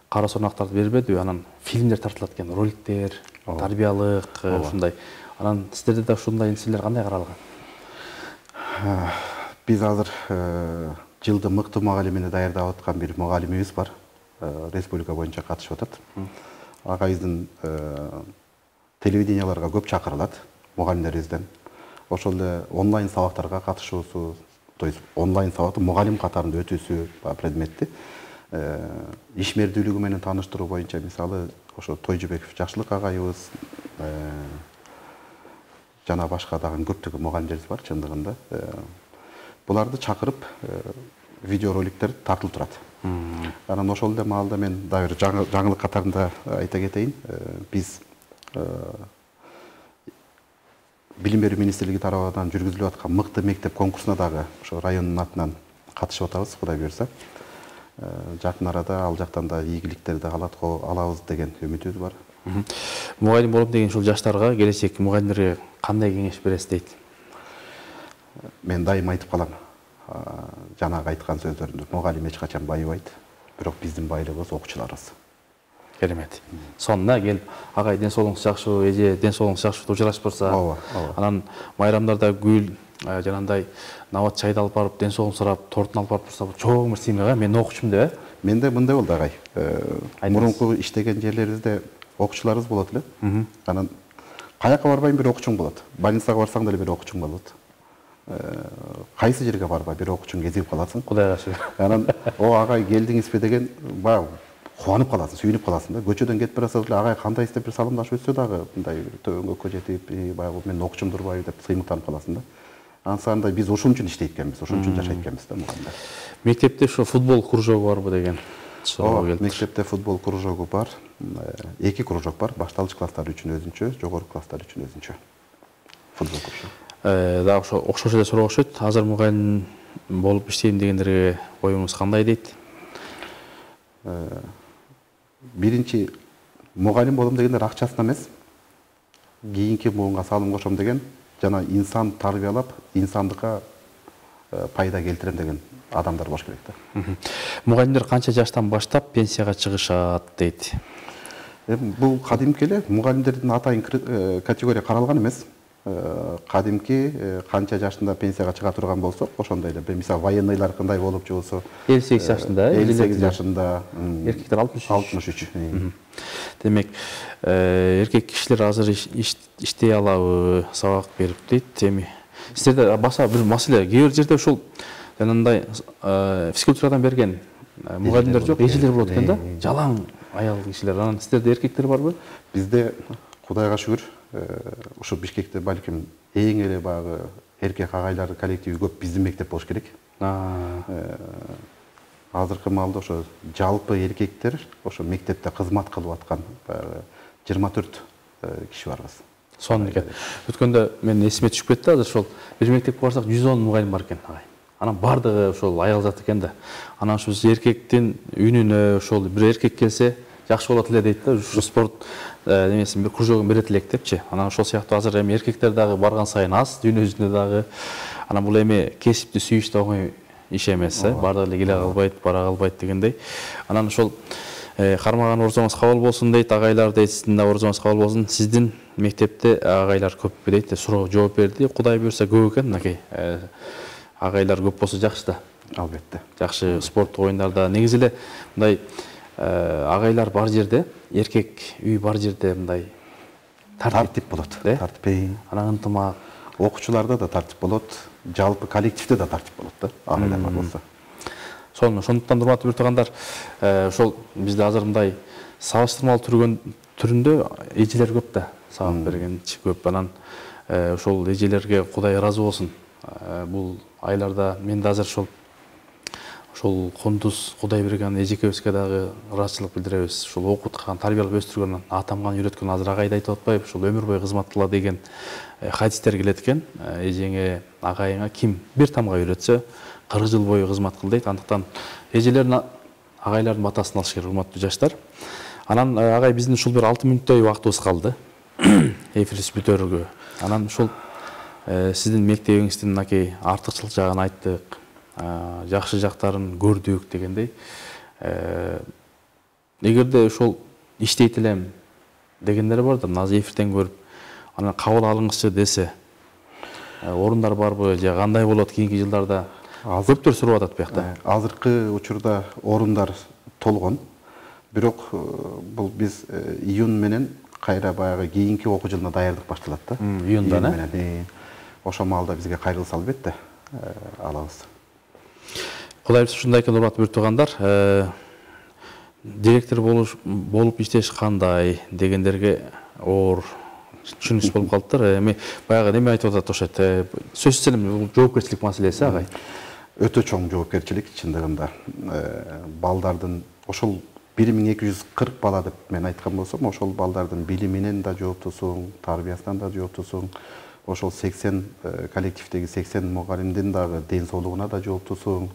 кара сонактарды бербедиби? Анан фильмдер тартылат экен, роликтер, тарбиялык, ушундай. Анан сиздерде да ушундай нерселер кандай каралган? Биз азыр жылды мыкты мугалимини даярдап аткан бир мугалимибиз бар. Республика боюнча катышып атат. Агайыбыздын телевиденияларга көп чакырылат мугалимдерибизден. Ошол эле онлайн сабактарга катышуусу, то есть онлайн сабакты мугалим катарында өтүүсү предметти ишмердүүлүгү менен тааныштыруу боюнча мисалы ошо Тойжубеков Жакшылык агайыбыз жана башка дагы көптөгөн мугалимдерибиз бар чындыгында. Буларды чакырып видеороликтер тартылып турат. Анан ошол эле маалда мен дагы жаңылык катарында айта кетейин. Биз Билим берүү министрлиги тарабынан жүргүзүлүп аткан мыкты мектеп конкурсуна дагы ошо райондун атынан катышып атабыз, Кудай буйрса. Жакын арада ал жактан да ийгиликтерди алабыз деген үмүтүбүз бар. Мугалим болом деген ушул жаштарга, келечек мугалимдерге кандай кеңеш бересиз дейт? Мен дайым айтып калам. Жанагы айткан сөздөрүмдү. Мугалим эч качан байыбайт, бирок биздин байлыгыбыз окуучуларыбыз. Керемет. Сонуна келип, агай ден соолугуңуз жакшыбы, эже ден соолугуңуз жакшыбы, учурашып турса, анан майрамдарда гүл, жанагындай нават чайды алып барып, ден соолугун сурап, тортун алып барып турса, чоң бир сыймык, мен окуучумун деп, Менде мындай болду агай. Мурунку иштеген жерлерибизде окуучуларыбыз болот эле. Анан каяка барбайм бир окуучуң болот. Больницага барсаң деле бир окуучуң болот. Кайсы жерге барба бир окуучуң кезигип каласың. Кудайга шүгүр. Анан о агай келдиңизби деген баягы кубанып каласың, сүйүнүп каласың да. Көчөдөн кетип барасыз эле агай кандайсыз деп бир саламдашып өтсө дагы мындай төбөңгө жетип, баягы мен окуучум турбайбы деп сыймыктанып каласың да. Ансанда биз ошон үчүн иштейт экенбиз, ошон үчүн жашайт экенбиз да мугалимдер. Мектепте ошо футбол кружогу барбы деген суроо келди. Мектепте футбол кружогу бар. 2 кружок бар. Башталгыч класстар үчүн өзүнчө, жогорку класстар үчүн өзүнчө. Футбол кружогу. Дагы ошо окшош эле суроо окшойт. Азыр мугалим болуп иштейм дегендерге оюңуз кандай дейт? Биринчи мугалим болом дегендер акчасына эмес, кийинки буунга салым кошом деген, жана инсан тарбиялап, инсандыкка пайда келтирем деген адамдар болуш керек да. Мугалимдер канча жаштан баштап пенсияга чыгышат дейт? Бул кадимки эле мугалимдердин атайын категория каралган эмес. Кадимки канча жашында пенсияга чыга турган болсок, ошондой эле. Мисалы военныйлар кандай болуп жубусу 58 жашында, 58 жашында, эркектер 63. Демек, эркек кишилер азыр иштей алабы, сабак берип дейт. Сиздерде баса бир маселе, кээ бир жерде ушул жанагындай физкультурадан берген мугалимдер жок, эжелер болот экен да. Жалаң аял кишилер. Анан сиздерде эркектер барбы? Бизде Кудайга шүгүр, ушу Бишкекте балким эң эле баягы эркек агайлар коллективи көп биздин мектеп болуш керек. Азыркы маалда ошо жалпы эркектер ошо мектепте кызмат кылып аткан 24 киши барбыз. Сонун экен. Өткөндө мен эсиме түшүп кетти, азыр ошол бир мектепке барсак 110 мугалим бар экен агай. Анан бардыгы ошол аял зат экен да. Анан ошо эркектин үнүнө ошол бир эркек келсе жакшы болот эле дейт да. Ушу спорт немесин бир кружогун берет элек депчи. Анан ошол сыяктуу азыр эми эркектер дагы барган сайын аз, дүйнө жүзүндө дагы. Анан бул эми кесипти сүйүш да оңой иш эмес, баардыгы эле келе калбайт, бара калбайт дегендей. Анан ошол кармаган орзоңуз кабыл болсун дейт, агайлар дейт, сиздин да орзоңуз кабыл болсун. Сиздин мектепте агайлар көппү дейт, суроо жооп берди. Кудай буйрса көп экен, мынакей. Агайлар көп болсо жакшы да. Албетте. Жакшы спорттук оюндарда негизи эле мындай агайлар бар жерде, эркек үй бар жерде мындай тартип болот. Тартип. Анан ынтымак. Окуучуларда да тартип болот, жалпы коллективде да тартип болот да, агайлар бар болсо. Ошондуктан урматтуу биртугандар, ошол бизде азыр мындай салыштырмалуу түрүндө эжелер көп да, сабак бергенчи көп. Анан ошол эжелерге Кудай ыраазы болсун. Бул айларда мен да азыр ошол Кундуз Кудай берген эжекебизге дагы ыраазычылык билдиребиз. Ошол окуткан, тарбиялап өстүргөн, атамган, үйрөткөн, азыр агайды айтып атпайбы, ошол өмүр бою кызмат кыла деген хадистер келет экен. Эжеңе, агайыңа ким бир тамга үйрөтсө, 40 жыл бою кызмат кыл дейт. Андыктан эжелердин, агайлардын батасын алыш керек, урматтуу жаштар. Анан агай биздин ушул бир 6 мүнөттөй убактыбыз калды. Эфирибиз бүтөргө. Анан ушул сиздин мектебиңиздин мынакей артыкчылык жагын айттык, жакшы жактарын көрдүк дегендей. Эгерде ошол иштейт элем дегендер бар да, азыр эфирден көрүп, анан кабыл алыңызчы десе. орундар барбы же кандай болот кийинки жылдарда? Көптөр сурап атат биякта. Азыркы учурда орундар толгон. Бирок бул биз июнь менен кайра баягы кийинки окуу жылына даярдык башталат да. Июндан, ошол маалда бизге кайрылса албетте алабыз. Кудай буйрса ушундай экен, урматтуу туугандар. Директор болуп иштеш кандай дегендерге оор түшүнүксүз болуп калыптыр. Эми баягы неме айтып атат окшойт. Сөзсүз эле бул жоопкерчилик маселеси агай. Өтө чоң жоопкерчилик чындыгында. Балдардын ошол 1240 бала деп мен айткан болсом, ошол балдардын билиминен да жооптусуң, тарбиясынан да жооптусуң. Ошол 80 коллективдеги 80 мугалимдин дагы ден соолугуна да жооптусуң.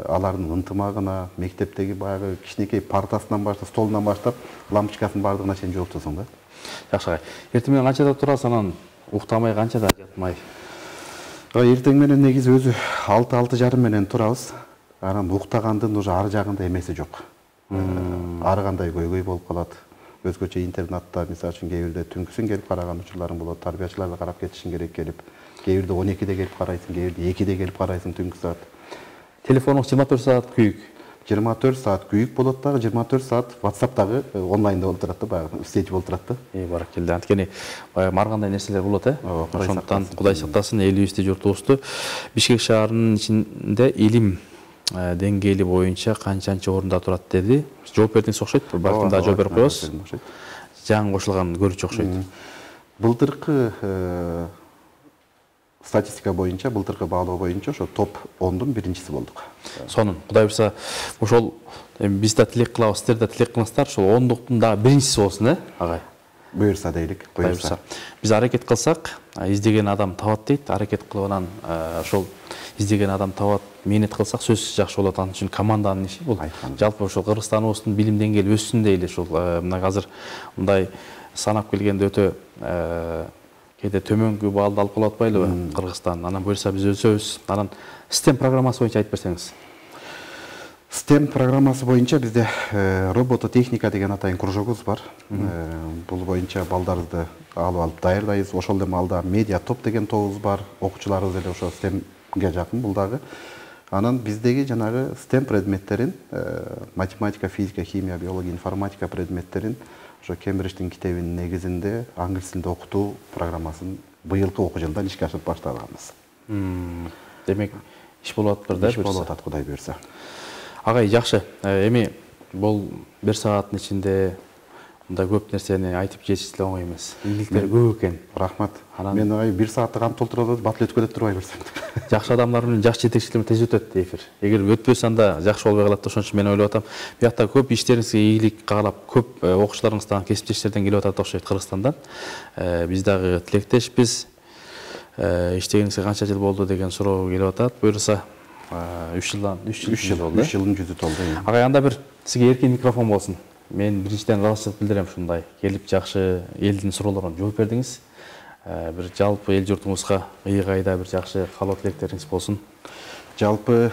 Алардын ынтымагына, мектептеги баягы кичинекей партасынан баштап, столунан баштап, лампочкасынын бардыгына чейин жооптусуң да. Жакшы агай. Эртең менен канчада турасыз, анан уктамай канчада жатмай? Эртең менен негизи өзү 6-6:30 менен турабыз. Анан уктагандын уже ар жагында эмеси жок. Ар кандай көйгөй болуп калат. Өзгөчө интернатта, мисалы үчүн, кээ бирде түнкүсүн келип караган учурларың болот, тарбиячыларды карап кетишиң керек келип. Кээ бирде 12-де келип карайсың, кээ бирде 2-де келип карайсың түнкү саат. Телефонуңуз 24 саат күйүк. 24 саат күйүк болот дагы, 24 саат WhatsApp'тагы онлайнда болуп турат да, баягы сеть болуп турат да. Баракелде. Анткени баягы маргандай нерселер болот, Ошондуктан Кудай сактасын элибизди, журтубузду. Бишкек шаарынын ичинде илим деңгээли боюнча канчанчы орунда турат деди. Жооп бердиңиз окшойт. Балким да жооп берип коебуз. Жаңы кошулган көрүүчү окшойт. Былтыркы статистика боюнча, былтыркы баалоо боюнча ошо топ 10дун биринчиси болдук. Сонун, Кудай буйрса, ошол биз да тилек кылабыз, сиздер да тилек кылыңыздар, ошол 10дуктун дагы биринчиси болсун, агай. Буйрса дейлик, буйрса. Биз аракет кылсак, издеген адам табат дейт. Аракет кылып анан ошол издеген адам табат, мээнет кылсак сөзсүз жакшы болот. Анын үчүн команданын иши бул. Жалпы ошол Кыргызстаныбыздын билим деңгээли өссүн дейли. Ошол мына азыр мындай санап келгенде өтө кээде төмөнкү баалды алып калып атпайлыбы Кыргызстан. Анан буйрса биз өсөбүз. Анан STEM программасы боюнча айтып берсеңиз. STEM программасы боюнча бизде робототехника деген атайын кружогубуз бар. Бул боюнча балдарды алып даярдайбыз. Ошол эле маалда медиа топ деген тобубуз бар. Окуучуларыбыз эле ошо STEMге жакын бул дагы. Анан биздеги жанагы STEM предметтерин, математика, физика, химия, биология, информатика предметтерин ошо Кембридждин китебинин негизинде англис тилинде окутуу программасын быйылкы окуу жылдан ишке ашырып баштаганбыз. Демек, иш болуп атыптыр да? Иш болуп атат, Кудай буйрса. Агай, жакшы. Эми бул 1 сааттын ичинде мындай көп нерсени айтып жетиш эле оңой эмес. Ийгиликтери көп экен. Рахмат. Мен 1 саатты кантип толтура бат эле өткөрүп турбай берсем. Жакшы адамдар менен жакшы жетекчилер менен тез өтөт эфир. Эгер өтпөсө анда жакшы болбой калат. Ошон үчүн мен ойлоп атам, биякта көп иштериңизге ийгилик каалап, көп окуучуларыңыздан, кесиптештерден келип атат окшойт Кыргызстандан. Биз дагы тилектешпиз. Иштегениңизге канча жыл болду деген суроо келип атат. Буйрса 3 жыл болду. 3 жылдын жүзү толду. Агай, анда бир сизге эркин микрофон болсун. Мен биринчиден ыраазычылык билдирем ушундай келип жакшы элдин суроолоруна жооп бердиңиз. Бир жалпы эл журтуңузга ыйгайда бир жакшы каалоо тилектериңиз болсун. Жалпы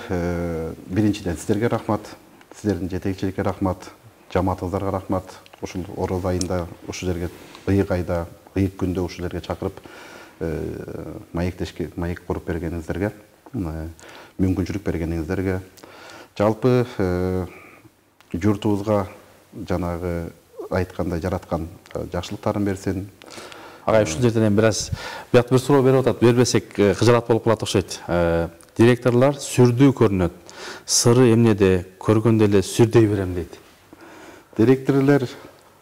биринчиден сиздерге рахмат, сиздердин жетекчиликке рахмат, жамаатыңыздарга рахмат. Ушул ороз айында ушул жерге ыйгайда, ыйык күндө ушул жерге чакырып маек куруп бергениңиздерге, мүмкүнчүлүк бергениңиздерге, жалпы журтубузга жанагы айткандай жараткан жакшылыктарын берсин. Агай, ушул жерден бир аз биякта бир суроо берип атат, бербесек кыжырат болуп калат окшойт. Директорлор сүрдүү көрүнөт. Сыры эмнеде? Көргөндө эле сүрдөй берем дейт. Директорлор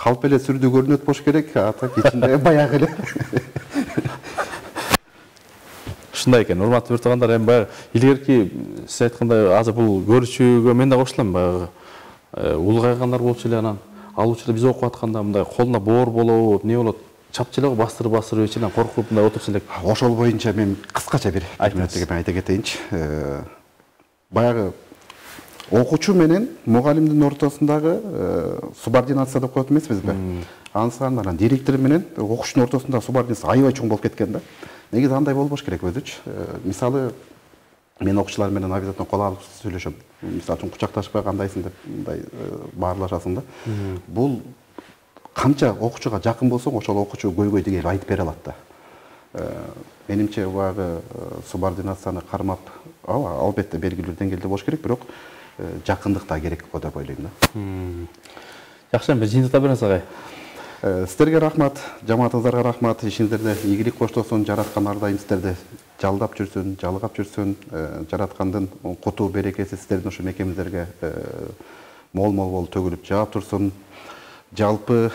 калп эле сүрдүү көрүнөт болуш керек, ата кичинде баягы эле. Ушундай экен, урматтуу туугандар, эми баягы илгерки сиз айткандай азыр бул көрүүчүгө мен да кошулам, баягы улгайгандар болчу эле, анан алуучу биз окуп атканда мындай колуна боор болобу, эмне болот? Чапчы эле бастырып ичинен коркуп мындай отурчу элек. Ошол боюнча мен кыскача бир мүнөттөгө айта кетейинчи. Баягы окуучу менен мугалимдин ортосундагы субординация деп коет эмеспизби? Анан директор менен окуучунун ортосундагы субординация аябай чоң болуп кеткен да. Негизи андай болбош керек өзүчү. Мисалы, мен окуучулар менен обязательно кол алып сүйлөшөм. Мисалы үчүн кучакташпай кандайсың деп мындай баарлашасың да. Бул канча окуучуга жакын болсоң, ошол окуучу көйгөйдү келип айтып бере алат да. Менимче баягы субординацияны кармап, албетте белгилүү деңгээлде болуш керек, бирок жакындык да керек го деп ойлойм да. Жакшы, бир жыйынтыкта бериңиз агай. Сіздерге рахмат, жамаатыңыздарга рахмат. Ишиңиздерде ийгилик коштосун, жараткан ар дайым сиздерди жалдап жүрсүн, жалгап жүрсүн. Жараткандын куту берекеси сиздердин ошо мекемеңиздерге мол төгүлүп жаап турсун. Жалпы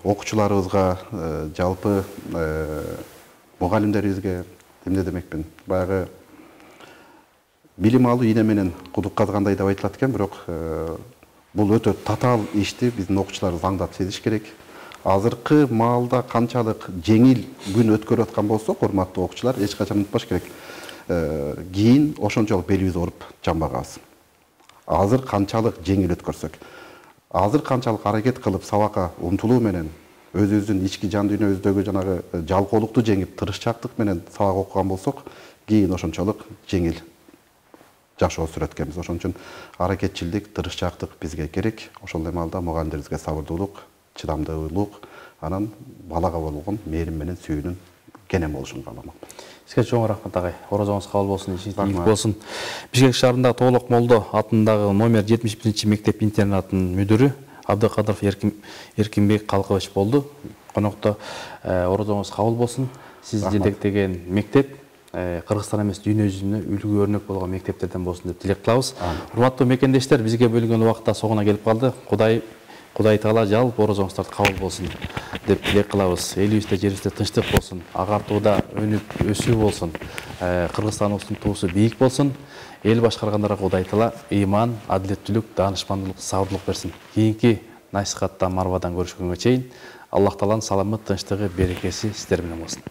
окуучуларыбызга, жалпы мугалимдерибизге эмне демекмин? Баягы билим алуу ийне менен кудук казгандай деп айтылат экен, бирок бул өтө татаал ишти биздин окуучуларыбыз аңдап сезиш керек. Азыркы маалда канчалык жеңил күн өткөрүп аткан болсок, урматтуу окуучулар, эч качан унутпаш керек. Кийин ошончолук белибиз ооруп жамбагабыз. Азыр канчалык жеңил өткөрсөк, азыр канчалык аракет кылып сабакка умтулуу менен, өзүбүздүн ички жан дүйнөбүздөгү жанагы жалкоолукту жеңип, тырышчаактык менен сабак окуган болсок, кийин ошончолук жеңил жашоо сүрөт экенбиз. Ошон үчүн аракетчилдик, тырышчаактык бизге керек. Ошол эле маалда мугалимдерибизге сабырдуулук, чыдамдуулук, анан балага болгон мээрим менен сүйүүнүн кенен болушун кааламак. Сизге чоң рахмат агай. Орозоңуз кабыл болсун, ишиңиз ийгилик болсун. Бишкек шаарындагы Тоолок Молдо атындагы номер 71 мектеп-интернатынын мүдүрү Абдыкадыров Эркинбек Калкыбач болду. Конокто орозоңуз кабыл болсун. Сиз жетектеген мектеп Кыргызстан эмес дүйнө жүзүнө үлгү өрнөк болгон мектептерден болсун деп тилек кылабыз. Урматтуу мекендештер, бизге бөлүнгөн убакытта соңуна келип калды. Кудай Таала жалпы орозоңуздарды кабыл болсун деп тилек кылабыз. Элибизде, жерибизде тынчтык болсун, агартууда өнүп өсүү болсун. Кыргызстаныбыздын туусу бийик болсун. Эл башкаргандарга Кудай Таала ыйман, адилеттүүлүк, даанышмандуулук, сабырдуулук берсин. Кийинки насихатта Марвадан көрүшкөнгө чейин Аллах Тааланын саламы, тынчтыгы, берекеси сиздер менен болсун.